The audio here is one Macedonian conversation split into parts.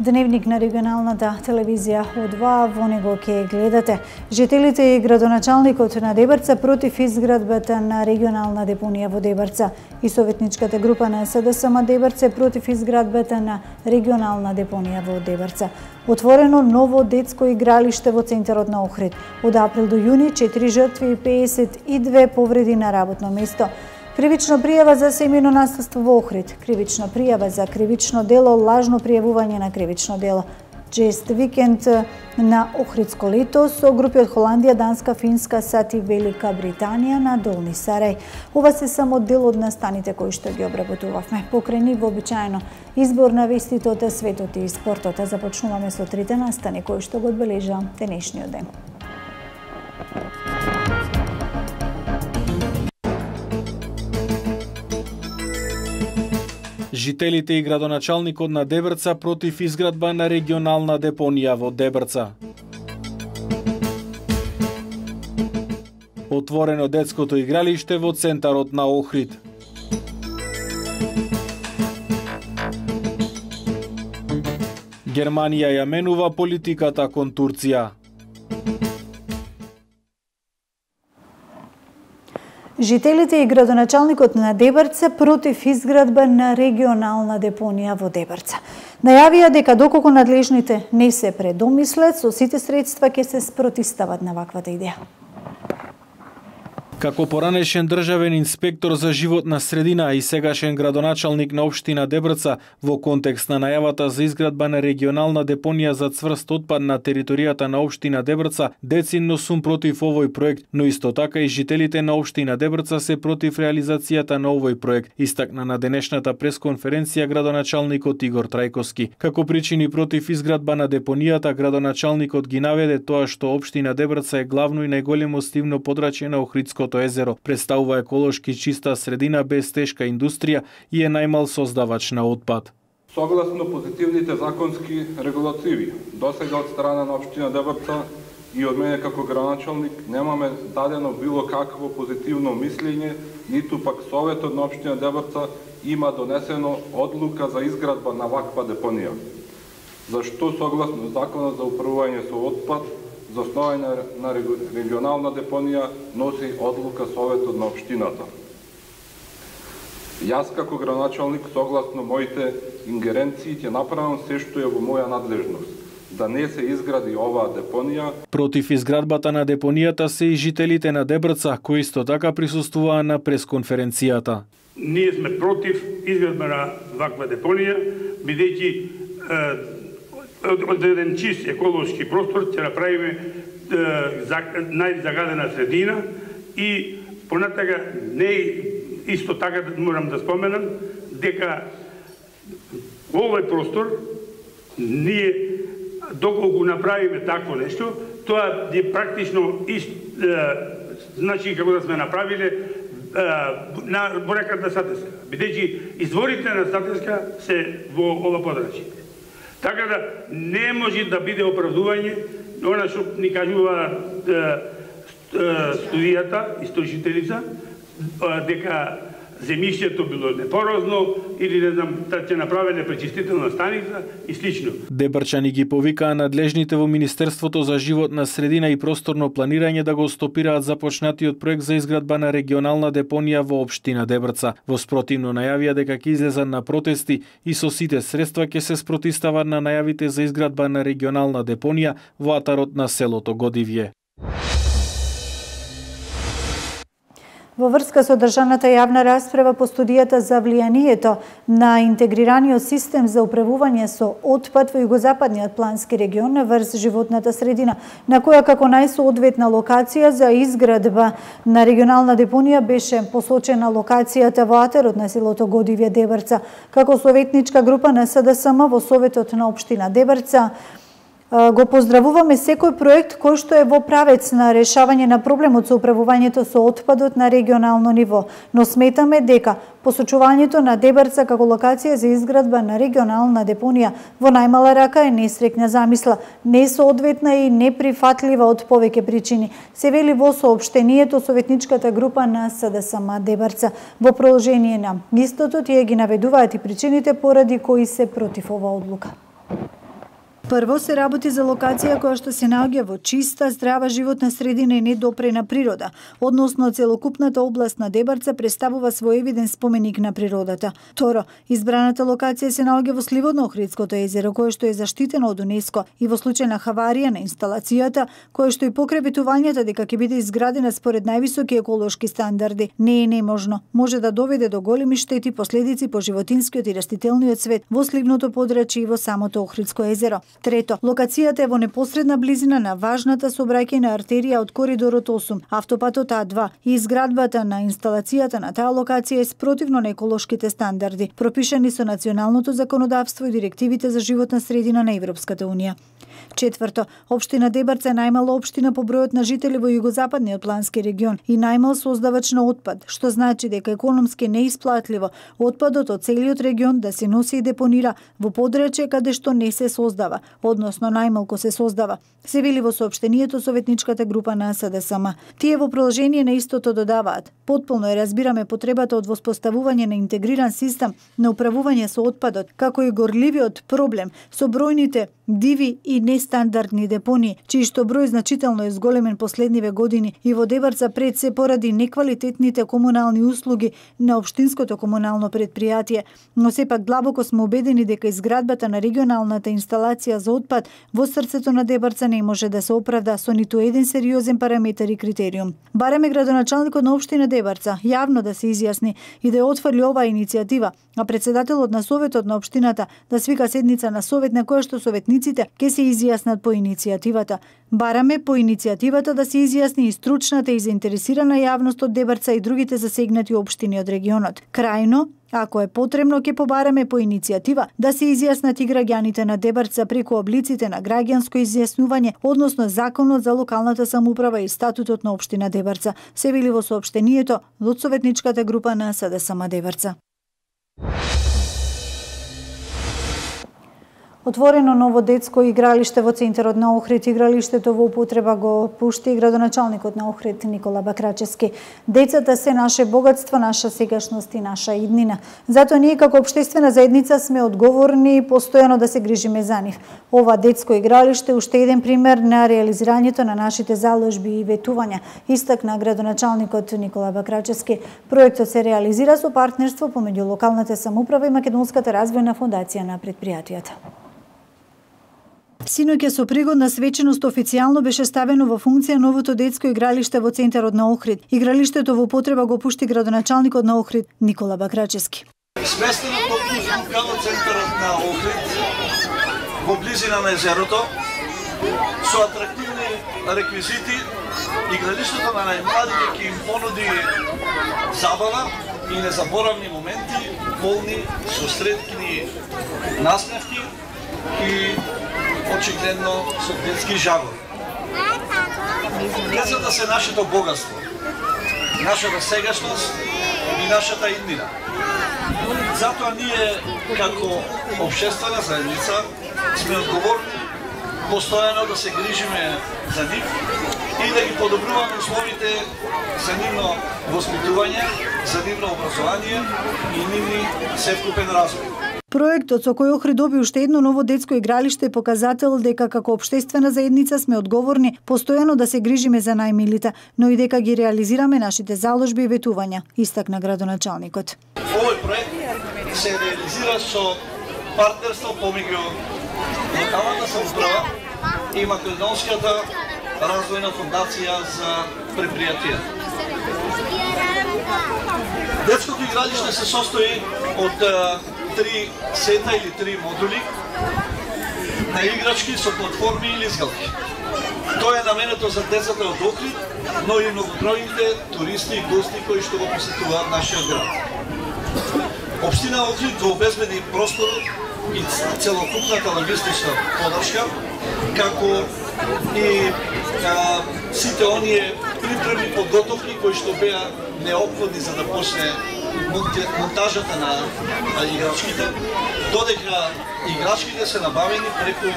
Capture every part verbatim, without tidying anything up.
Дневник на регионалната телевизија О два, во него ќе гледате. Жителите и градоначалникот на Дебрца против изградбата на регионална депонија во Дебрца и советничката група на СДСМ Дебрца против изградбата на регионална депонија во Дебрца. Отворено ново детско игралиште во центарот на Охрид. Од април до јуни четири жртви и педесет и две повреди на работно место. Кривична пријава за семејно насилство во Охрид. Кривична пријава за кривично дело, лажно пријавување на кривично дело. Чест викенд на Охридско лето со групи од Холандија, Данска, Финска, САД и Велика Британија на Долни Сарај. Ова се само дел од настаните кои што ги обработувавме. Покрај нив вообичаено избор на вестите од светот и спортот. Започнуваме со трите настани кои што го одбележа денешниот ден. Жителите и градоначалникот на Дебрца против изградба на регионална депонија во Дебрца. Отворено детското игралиште во центарот на Охрид. Германија ја менува политиката кон Турција. Жителите и градоначалникот на Дебрца против изградба на регионална депонија во Дебрца. Најавија дека доколку надлежните не се предомислат, со сите средства ќе се спротистават на ваквата идеја. Како поранешен државен инспектор за животна средина и сегашен градоначалник на општина Дебрца во контекст на најавата за изградба на регионална депонија за цврст отпад на територијата на општина Дебрца, децидно сум против овој проект, но исто така и жителите на општина Дебрца се против реализацијата на овој проект, истакна на денешната пресконференција градоначалникот Игор Трајковски. Како причини против изградба на депонијата, градоначалникот ги наведе тоа што општина Дебрца е главно и најголемо сливно подрачје на Охридското езеро, представува еколошки чиста средина без тешка индустрија и е најмал создавач на отпад. Согласно позитивните законски регулативи, досега од страна на општина Дебрца и од мене како градоначалник немаме дадено било какво позитивно мислење, ниту пак Советот на општина Дебрца има донесено одлука за изградба на ваква депонија. Зашто согласно Законот за управување со отпад, за основање на регионална депонија носи одлука Советот на општината. Јас како градоначалник, согласно моите ингеренции, ќе направам се што е во моја надлежност, да не се изгради оваа депонија. Против изградбата на депонијата се и жителите на Дебрца, кои исто така присуствуваа на пресконференцијата. Ние сме против изградба на ваква депонија, бидејќи од еден чист еколошки простор ќе направиме најзагадена средина и понатака не исто така морам да споменам дека овој простор ние доколку направиме такво нешто, тоа е практично ист, значи како да сме направиле на бореката Сатеска, бидејќи изворите на Сатеска се во ова подрачје. Така да не може да биде оправдување она што ни кажува студијата, истражителица, дека земјиште било непорозно или не знам, да ќе направеле пречистителна станица и слично. Дебрчани ги повикаа надлежните во Министерството за животна средина и просторно планирање да го стопираат започнатиот проект за изградба на регионална депонија во општина Дебрца. Во спротивно најавија дека ќе излезат на протести и со сите средства ќе се спротистават на најавите за изградба на регионална депонија во атарот на селото Годивје. Во врска со држаната јавна расправа по студијата за влијанието на интегрираниот систем за управување со отпад во југозападниот плански регион врз животната средина, на која како најсоодветна локација за изградба на регионална депонија беше посочена локацијата во атарот на селото Годивје Дебрца. Како советничка група на СДСМ во Советот на општина Дебрца го поздравуваме секој проект кој што е во правец на решавање на проблемот со управувањето со отпадот на регионално ниво, но сметаме дека посочувањето на Дебрца како локација за изградба на регионална депонија во најмала рака е несреќна замисла, несоодветна и неприфатлива од повеќе причини, се вели во соопштението советничката група на СДСМ Дебрца. Во продолжение на истото тие ги наведуваат и причините поради кои се против ова одлука. Прво се работи за локација која што се наоѓа во чиста, здрава животна средина и недопрена природа, односно целокупната област на Дебарца представува своевиден споменик на природата. Второ, избраната локација се наоѓа во сливот на Охридското езеро, кое што е заштитено од УНЕСКО и во случај на хаварија на инсталацијата, кое што и покрај ветувањата дека ќе биде изградена според највисоки еколошки стандарди, не е неможно. Може да доведе до големи штети последици по животинскиот и растителниот свет во сливното подрачје и во самото Охридско езеро. Трето, локацијата е во непосредна близина на важната сообраќајна артерија од коридорот осум, автопатот А два, и изградбата на инсталацијата на таа локација е спротивно на еколошките стандарди, пропишани со националното законодавство и директивите за животна средина на Европската унија. Четврто, општина Дебарца е најмала општина по бројот на жители во југозападниот плански регион и најмал создавач на отпад, што значи дека економски неисплатливо отпадот од целиот регион да се носи и депонира во подрачје каде што не се создава, односно најмалку се создава, се вели во соопштението советничката група на СДСМ. Тие во продолжение на истото додаваат: потполно е разбираме потребата од воспоставување на интегриран систем на управување со отпадот, како и горливиот проблем со бројните диви и нестандардни депонии, чиј што број значително е зголемен последниве години и во Дебарца пред се поради неквалитетните комунални услуги на општинското комунално предпријатие, но сепак длабоко сме убедени дека изградбата на регионалната инсталација за отпад во срцето на Дебарца не може да се оправда со ниту еден сериозен параметар и критериум. Бараме градоначалникот на општина Дебарца јавно да се изјасни и да ја отфрли оваа иницијатива, а председателот на советот на општината да свика седница на совет на која што советниците ќе се изјаснат по иницијативата. Бараме по иницијативата да се изјасни и стручната и заинтересирана јавност од Дебарца и другите засегнати општини од регионот. Крајно, ако е потребно, ќе побараме по иницијатива да се изјаснат и граѓаните на Дебарца преку облиците на граѓанско изјаснување, односно Законот за локалната самоуправа и статутот на општина Дебарца, се вели во соопштението од советничката група на СДСМ Дебарца. Отворено ново детско игралиште во центарот на Охрид. Игралиштето во употреба го пушти градоначалникот на Охрид Никола Бакрачевски. Децата се наше богатство, наша сегашност и наша иднина. Затоа ние како општествена заедница сме одговорни постојано да се грижиме за нив. Ова детско игралиште уште еден пример на реализирањето на нашите заложби и ветувања, истакна градоначалникот Никола Бакрачевски. Проектот се реализира со партнерство помеѓу локалната самоуправа и Македонската развојна фондација на предпријатијата. Синоќа со пригодна свеченост официјално беше ставено во функција новото детско игралиште во центарот на Охрид. Игралиштето во употреба го пушти градоначалникот на Охрид Никола Бакрачевски. Сместено токму во центарот на Охрид, во близина на езерото, со атрактивни реквизити, игралиштето на најмладите ќе им понуди забава и незаборавни моменти, полни со сретни насмевки и очигледно со детски жагор. Децата се нашето богатство, нашата сегашност и нашата иднина. Затоа ние, како општествена заедница, сме одговорни постојано да се грижиме за нив и да ги подобруваме условите за нивно воспитување, за нивно образование и нивни севкупен развој. Проектот со кој Охрид доби уште едно ново детско игралиште е показател дека како општествена заедница сме одговорни постојано да се грижиме за најмилите, но и дека ги реализираме нашите заложби и ветувања, истакна градоначалникот. Овој проект се реализира со партнерство помеѓу локалната самоуправа и Македонската развојна фондација за предпријатија. Детското игралиште се состои од три сета или три модули на играчки со платформи и лизгалки. Тоа е наменето за децата од Охрид, но и многобројните туристи и гости кои што го посетуваат нашиот град. Општина Охрид го обезбеди простор и целокупната логистична подршка, како и а, сите оние припремни подготовки кои што беа неопходни за да почне монтажата на, на играчките, додека играчките се набавени преку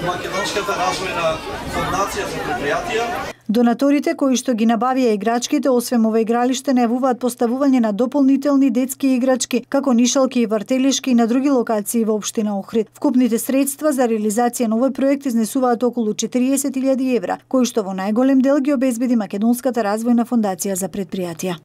Македонската развојна фондација за предпријатија. Донаторите кои што ги набавија играчките, освен ова игралиште, најавуваат поставување на дополнителни детски играчки, како нишалки и вртелишки и на други локации во општина Охрид. Вкупните средства за реализација на овој проект изнесуваат околу четириесет илјади евра, кои што во најголем дел ги обезбеди Македонската развојна фондација за предпријатија.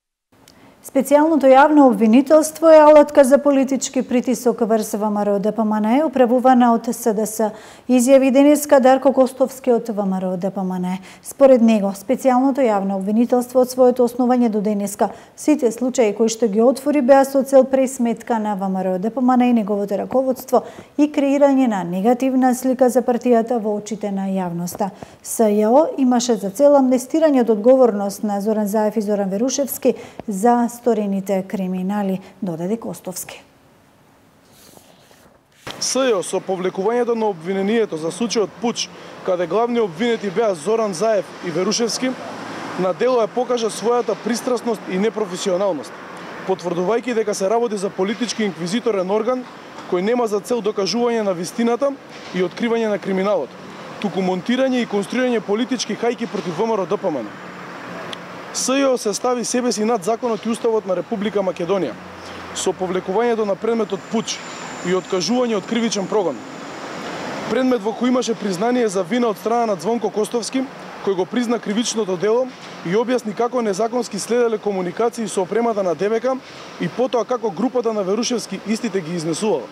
Специјалното јавно обвинителство е алатка за политички притисок врз ВМРО Д П М Н Е, управувана од С Д С, изјави денеска Дарко Костовски од ВМРО Д П М Н Е. Според него, специјалното јавно обвинителство од своето основање до денеска, сите случаи кои што ги отвори беа со цел пресметка на ВМРО Д П М Н Е и неговото раководство и креирање на негативна слика за партијата во очите на јавноста. С Ј О имаше за цел амнестирање од одговорност на Зоран Заев и Зоран Верушевски за сторените криминали, додаде Костовски. С Ј О со повлекувањето на обвинението за случајот Пуч, каде главни обвинети беа Зоран Заев и Верушевски, на дело ја покажа својата пристрасност и непрофесионалност, потврдувајќи дека се работи за политички инквизиторен орган кој нема за цел докажување на вистината и откривање на криминалот, туку монтирање и конструирање политички хајки против ВМРО Д П М Н. С Ј О се стави себе си над законот и уставот на Република Македонија, со повлекувањето на предметот Пуч и откажување од кривичен прогон. Предмет во кој имаше признание за вина од страна на Звонко Костовски, кој го призна кривичното дело и објасни како незаконски следеле комуникации со опремата на Д В К и потоа како групата на Верушевски истите ги изнесувала.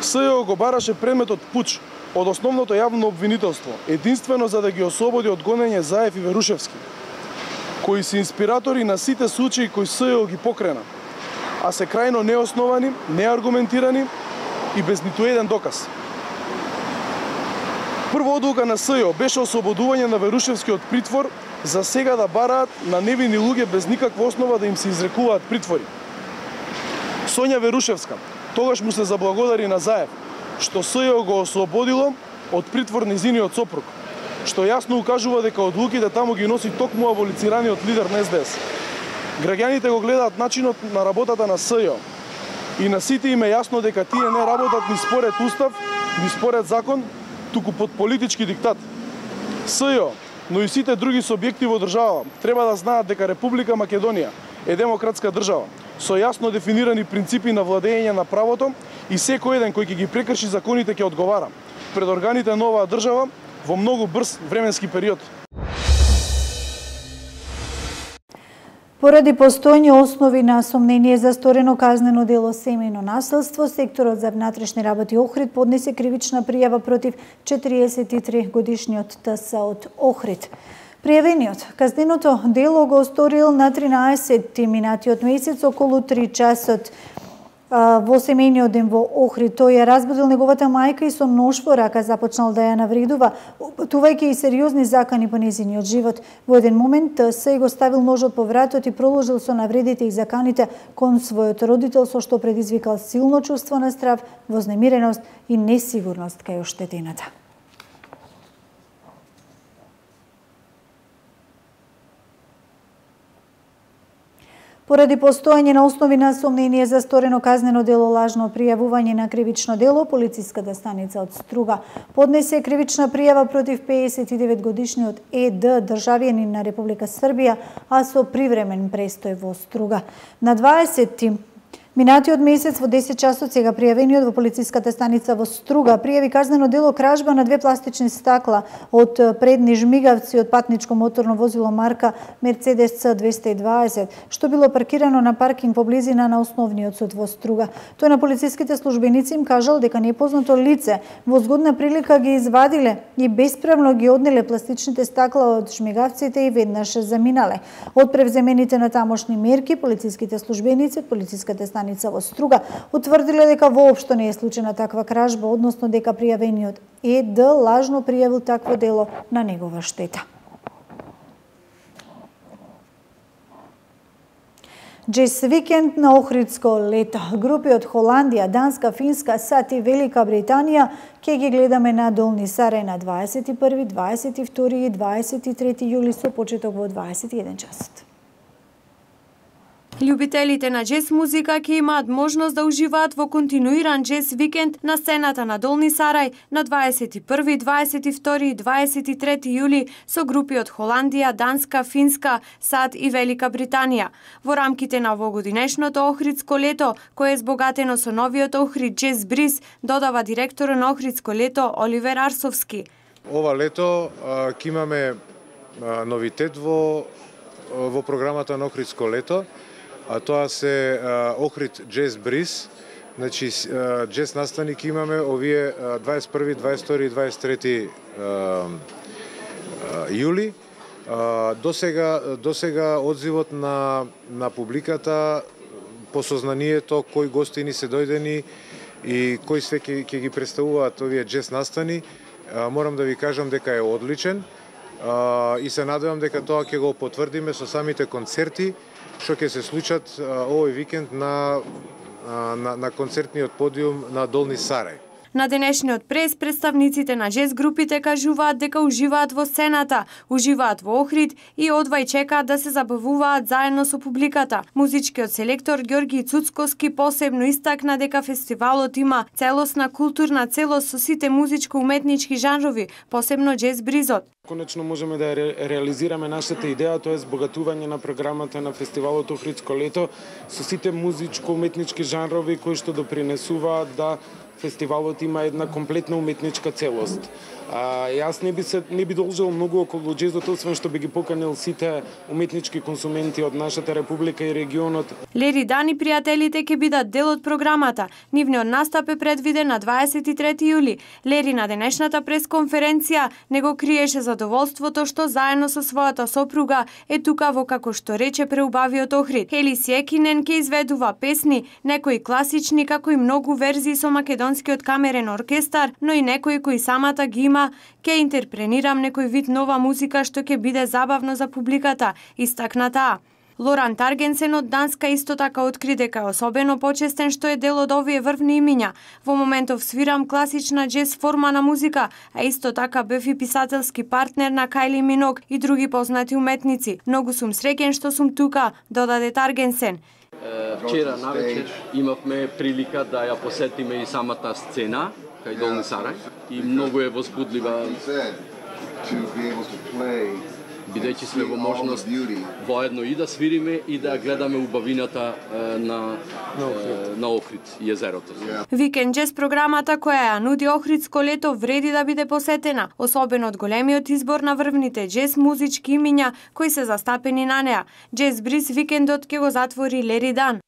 С Ј О го бараше предметот Пуч од основното јавно обвинителство, единствено за да ги ослободи од гонење Заев и Верушевски, кои се инспиратори на сите случаи кои С Ј О ги покрена, а се крајно неосновани, неаргументирани и без ниту еден доказ. Прва одлука на С Ј О беше ослободување на Верушевски од притвор, за сега да бараат на невини луѓе без никаква основа да им се изрекуваат притвори. Сонја Верушевска тогаш му се заблагодари на Заев, што С Ј О го ослободило од притвор незиниот сопруг, што јасно укажува дека одлуките таму ги носи токму аболицираниот лидер на С Д С. Граѓаните го гледаат начинот на работата на С Ј О и на сите им е јасно дека тие не работат ни според устав, ни според закон, туку под политички диктат. С Ј О, но и сите други субјекти во држава треба да знаат дека Република Македонија е демократска држава со јасно дефинирани принципи на владење на правото и секој еден кој ќе ги прекрши законите ќе одговара пред органите на оваа држава во многу брз временски период. Поради постојни основи на сомнение за сторено казнено дело семејно насилство, секторот за внатрешни работи Охрид поднесе кривична пријава против четириесет и три годишниот Т С од Охрид. Пријавениот казненото дело го сторил на тринаесетти минатиот месец околу три часот во семејниот ден во Охрид. Тој ја разбудил неговата мајка и со нож во рака започнал да ја навредува, упатувајќи и сериозни закани по незиниот живот. Во еден момент се го ставил ножот по вратот и продолжил со навредите и заканите кон својот родител, со што предизвикал силно чувство на страв, вознемиреност и несигурност кај оштетената. Поради постојање на основи на сомнение за сторено казнено дело лажно пријавување на кривично дело, полициската станица од Струга поднесе кривична пријава против пеесет и девет годишниот Е Д, државјанин на Република Србија, а со привремен престој во Струга. На дваесетти минатиот месец во десет часот сега пријавениот во полициската станица во Струга пријави казнено дело кражба на две пластични стакла од предни жмигавци од патничко моторно возило марка Мерцедес Ц двесте и дваесет, што било паркирано на паркинг во близина на основниот суд во Струга. Тој на полициските службеници им кажал дека непознато лице во згодна прилика ги извадиле и бесправно ги однеле пластичните стакла од жмигавците и веднаш заминале. Од превземените на тамошни мерки, полициските службеници од полициската станица во Струга утврдиле дека воопшто не е случајна таква кражба, односно дека пријавениот Е Д лажно пријавил такво дело на негова штета. Джез викенд на Охридско лето. Групи од Холандија, Данска, Финска, САД и Велика Британија ќе ги гледаме на Долни Сарај на дваесет и први, дваесет и втори и дваесет и трети јули со почеток во дваесет и еден часот. Љубителите на џез музика ќе имаат можност да уживаат во континуиран џез викенд на сцената на Долни Сарај на дваесет и први, дваесет и втори и дваесет и трети јули со групи од Холандија, Данска, Финска, САД и Велика Британија. Во рамките на овогодинешното Охридско лето, кое е збогатено со новиот Охрид Џез Бриз, додава директорот на Охридско лето Оливер Арсовски. Ова лето ќе имаме а, новитет во во програмата на Охридско лето, а тоа се а, Охрид Џез Бриз. Значи џез настани ќе имаме овие дваесет и први, дваесет и втори и дваесет и трети јули. До сега до сега одзивот на на публиката по сознанието кои гостини се дојдени и кои све ќе ќе ги представуваат овие џез настани, морам да ви кажам дека е одличен и се надевам дека тоа ќе го потврдиме со самите концерти што ќе се случат овој викенд на на на концертниот подиум на Долни Сарај. На денешниот прес представниците на џез групите кажуваат дека уживаат во сцената, уживаат во Охрид и одвај чекаат да се забавуваат заедно со публиката. Музичкиот селектор Ѓорги Цуцковски посебно истакна дека фестивалот има целосна културна целост со сите музичко-уметнички жанрови, посебно џез бризот. Конечно можеме да ре, реализираме нашата идеја, тоа е збогатување на програмата на фестивалот Охридско лето со сите музичко-уметнички жанрови кои што допринесуваат да фестивалот има една комплетна уметничка целост. А, јас не би се не би должел многу околу џезот, освен што би ги поканил сите уметнички консументи од нашата република и регионот. Лери Дан и пријателите ќе бидат дел од програмата. Нивниот настап е предвиден на дваесет и трети јули. Лери на денешната пресконференција не го криеше задоволството што заедно со својата сопруга е тука во, како што рече, преубавиот Охрид. Хели Сјекинен ќе изведува песни, некои класични како и многу верзии со македонскиот камерен оркестар, но и некои кои самата ги има. Ќе интерпренирам некој вид нова музика што ќе биде забавно за публиката, истакна таа. Лоран Таргенсен од Данска исто така откри дека е особено почестен што е дел од овие врвни имиња. Во моментов свирам класична џез форма на музика, а исто така бев и писателски партнер на Кајли Миног и други познати уметници. Многу сум среќен што сум тука, додаде Таргенсен. Вчера навечер имавме прилика да ја посетиме и самата сцена кај Долни Сарај и многу е возбудлива, бидејќи сме во можност воедно и да свириме и да гледаме убавината на на Охрид и езерото. Викенд џез програмата која ја нуди Охридско лето вреди да биде посетена, особено од големиот избор на врвните џез музички имиња кои се застапени на неа. Џез Бриз викендот ќе го затвори Лери Дан.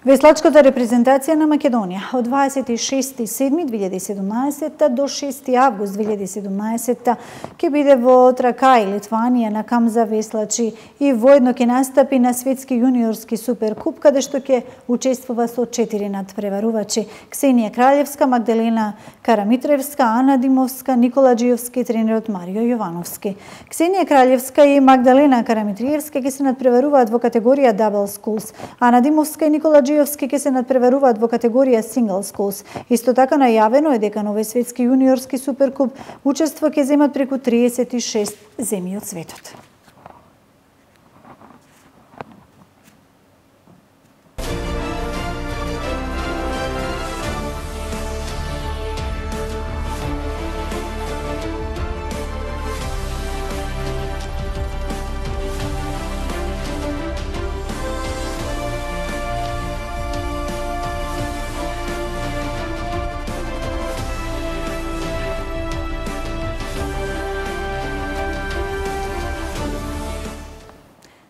Веслачката репрезентација на Македонија од дваесет и шести јули две илјади и седумнаесетта до шести август две илјади и седумнаесетта ќе биде во Тракај, Литванија, на камп за веслачи и воедно ќе настапи на светски јуниорски суперкуп, каде што ќе учествува со четири надпреварувачи: Ксенија Краљевска, Магдалена Карамитревска, Ана Димовска, Никола Џиовски и тренерот Марио Јовановски. Ксенија Краљевска и Магдалена Карамитревска ќе се надпреваруваат во категорија Double Sculls, Ана Димовска и Никола Џиовски ќе се надпреваруваат во категорија Single Sculls. Исто така најавено е дека на овој светски јуниорски суперкуп учество ќе земат преку триесет и шест земји од светот.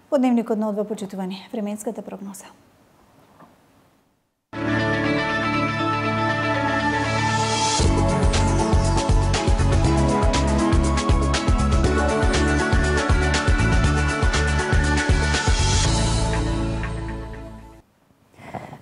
Во дневникот на Одва, почитувани, временската прогноза.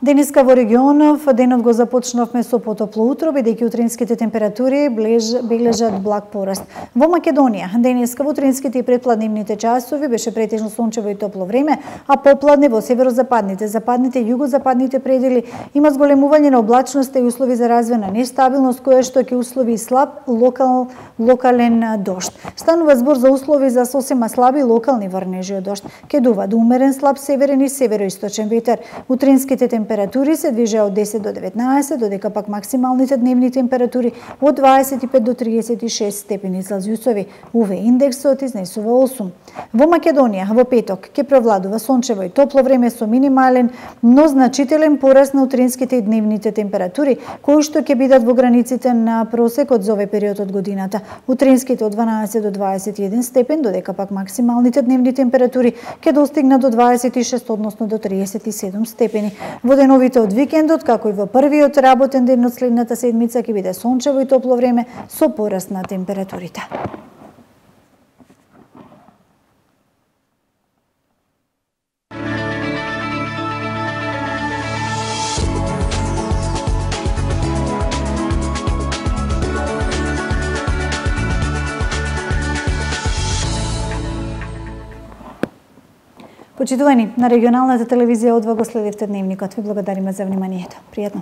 Денеска во регионов денот го започнавме со потопло утро, бидејќи утринските температури бележат благ пораст. Во Македонија денеска во утринските и предпладневните часови беше претежно сончево и топло време, а попладне во северозападните, западните и југозападните предели има зголемување на облачноста и услови за развој на нестабилност, која што ќе услови слаб локал, локален дожд. Станува збор за услови за сосема слаби локални врнежи од дожд. Ке дува до умерен слаб северен и североисточен ветер. Утринските температури се движеа од десет до деветнаесет, додека пак максималните дневни температури од дваесет и пет до триесет и шест степени Целзиусови. УВ индексот изнесува осум. Во Македонија во петок ќе провладува сончево и топло време со минимален, но значителен пораст на утринските и дневните температури, кои што ќе бидат во границите на просекот за овој период од годината. Утринските од дванаесет до дваесет и еден степен, додека пак максималните дневни температури ќе достигнат до дваесет и шест, односно до триесет и седум степени. Во деновите од викендот, како и во првиот работен ден од следната седмица, ќе биде сончево и топло време со пораст на температурите. Почитувани, на регионалната телевизија одва го следевте дневникот. Ви благодариме за вниманието. Пријатно.